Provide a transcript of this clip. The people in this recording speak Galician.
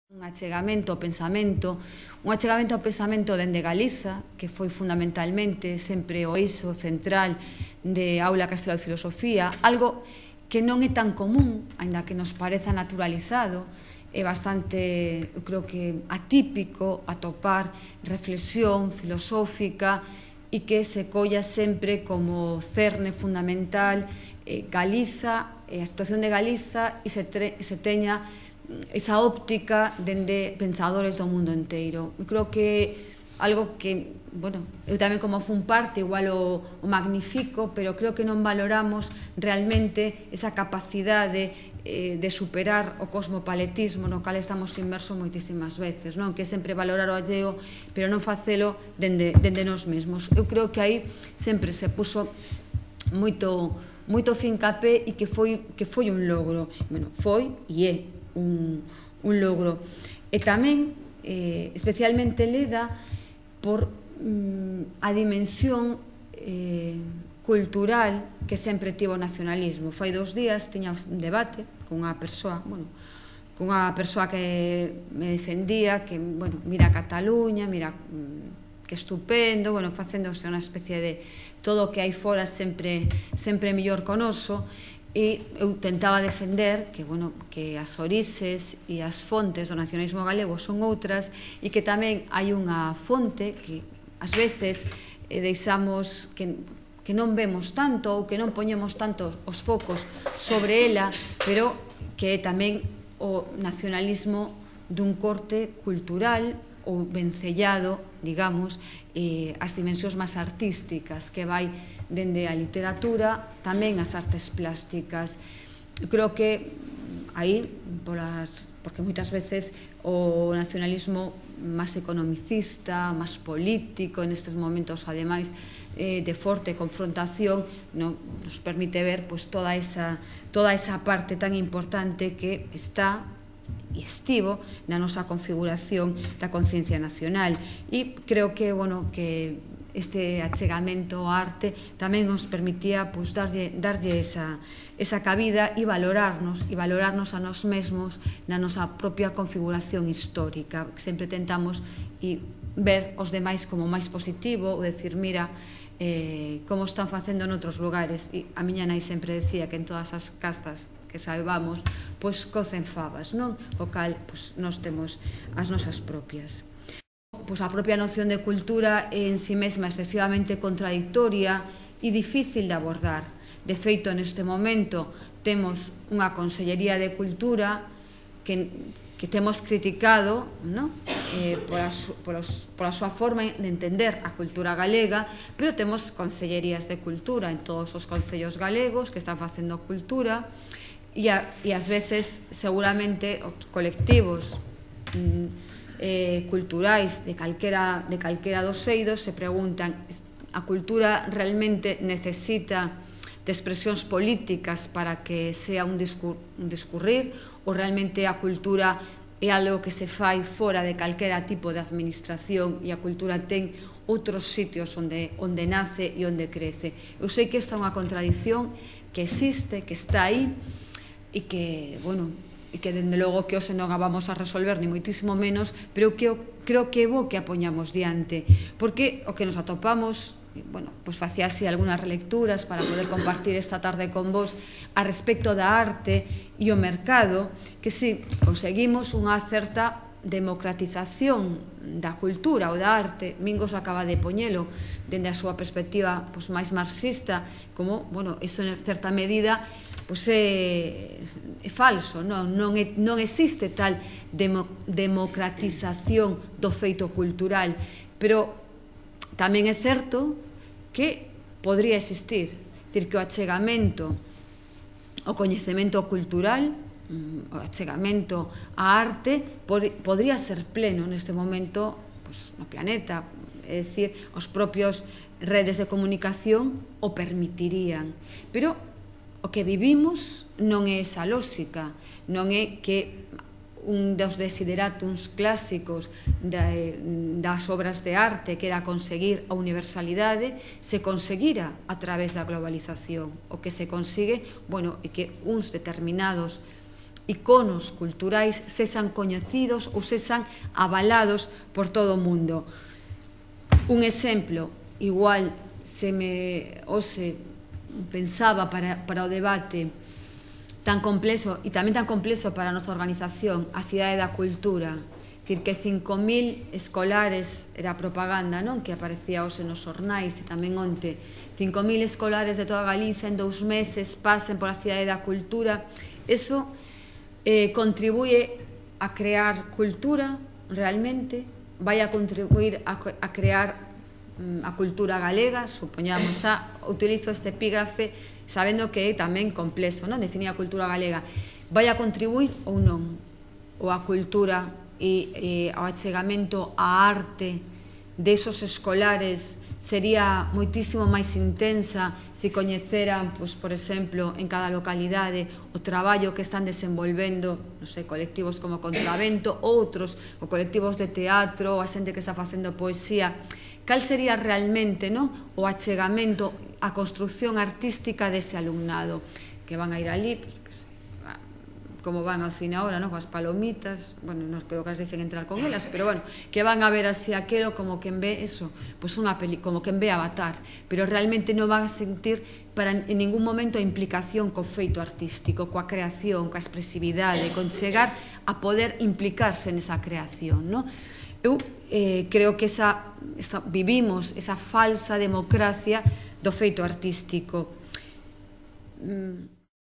Un achegamento ao pensamento dende Galiza, que foi fundamentalmente sempre o eixo central de Aula Castelo de Filosofía, algo que non é tan común, aínda que nos pareza naturalizado, é bastante, eu creo que atípico atopar reflexión filosófica e que se colla sempre como cerne fundamental Galiza, a situación de Galiza e se teña esa óptica dende pensadores do mundo inteiro. Eu creo que algo que, bueno, eu tamén como fun parte igual o magnifico, pero creo que non valoramos realmente esa capacidade de superar o cosmopaletismo no cal estamos inmersos moitísimas veces, non? Que é sempre valorar o alleo, pero non facelo dende nós mesmos. Eu creo que aí sempre se puso moito fincapé e que foi un logro. Bueno, foi e é un logro. E tamén, especialmente leda por a dimensión cultural que sempre tivo o nacionalismo. Fai 2 días tiña un debate cunha persoa, que me defendía, que, bueno, mira Cataluña, mira que estupendo, bueno, facéndose unha especie de todo o que hai fora sempre mellor co noso. E eu tentaba defender que, bueno, que as orixes e as fontes do nacionalismo galego son outras e que tamén hai unha fonte que ás veces deixamos que non vemos tanto ou que non poñemos tanto os focos sobre ela, pero que é tamén o nacionalismo dun corte cultural ou vencellado, digamos, as dimensións máis artísticas que vai dende a literatura, tamén as artes plásticas. Eu creo que aí, porque moitas veces o nacionalismo máis economicista, máis político, nestes momentos, ademais, de forte confrontación, nos permite ver toda esa parte tan importante que está e estivo na nosa configuración da conciencia nacional. E creo que, bueno, que este achegamento ao arte tamén nos permitía darlle esa cabida e valorarnos a nós mesmos na nosa propia configuración histórica. Sempre tentamos ver os demais como máis positivo, ou decir, mira, como están facendo noutros lugares. E a miña nai sempre decía que en todas as castas que saibamos, pois cocen fabas, non? O cal, nós temos as nosas propias. A propia noción de cultura é en si mesma excesivamente contradictoria e difícil de abordar. De feito, neste momento temos unha Consellería de Cultura que temos criticado pola súa forma de entender a cultura galega, pero temos concellerías de cultura en todos os concellos galegos que están facendo cultura e ás veces seguramente os colectivos culturais de calquera dos eidos se preguntan: a cultura realmente necesita de expresións políticas para que sea un discurrir, ou realmente a cultura é algo que se fai fora de calquera tipo de administración e a cultura ten outros sitios onde nace e onde crece? Eu sei que esta é unha contradición que existe, que está aí e que, bueno, e que dende logo que hoxe non a vamos a resolver ni moitísimo menos, pero creo que é bo que a poñamos diante, porque o que nos atopamos, bueno, pois facía así algunhas relecturas para poder compartir esta tarde con vos a respecto da arte e o mercado, que si conseguimos unha certa democratización da cultura ou da arte. Mingos acaba de poñelo dende a súa perspectiva máis marxista, como, bueno, iso en certa medida é falso, non existe tal democratización do feito cultural, pero tamén é certo que podría existir, dicir, que o achegamento ao coñecemento cultural, o achegamento á arte, podría ser pleno neste momento no planeta, é dicir, os propios redes de comunicación o permitirían, pero o que vivimos non é esa lógica, non é que un dos desideratums clásicos das obras de arte, que era conseguir a universalidade, se conseguira a través da globalización. O que se consigue, bueno, é que uns determinados iconos culturais sexan coñecidos ou sexan avalados por todo o mundo. Un exemplo, igual hoxe pensaba para o debate tan complexo e tamén tan complexo para a nosa organización, a Cidade da Cultura, dicir que 5.000 escolares, era a propaganda, non, que aparecía hoxe nos xornais e tamén onte, 5.000 escolares de toda Galicia en 2 meses pasen pola Cidade da Cultura, eso contribuye a crear cultura realmente, vai a contribuir a crear a cultura galega, supoñamos, utilizo este epígrafe sabendo que é tamén complexo, non, definir a cultura galega, vai a contribuir ou non, ou a cultura e ao achegamento á arte desos escolares sería moitísimo máis intensa se coñeceran, por exemplo, en cada localidade o traballo que están desenvolvendo, non sei, colectivos como Contravento, outros, ou colectivos de teatro, ou a xente que está facendo poesía. Cal sería realmente o achegamento, a construción artística dese alumnado que van a ir ali, como van ao cine ahora, coas palomitas, bueno, non creo que as deixen entrar con elas, pero bueno, que van a ver así aquelo como quen ve eso, como quen ve Avatar, pero realmente non van a sentir en ningún momento a implicación co feito artístico, coa creación, coa expresividade, con chegar a poder implicarse nesa creación, non? Eu creo que vivimos esa falsa democracia do feito artístico.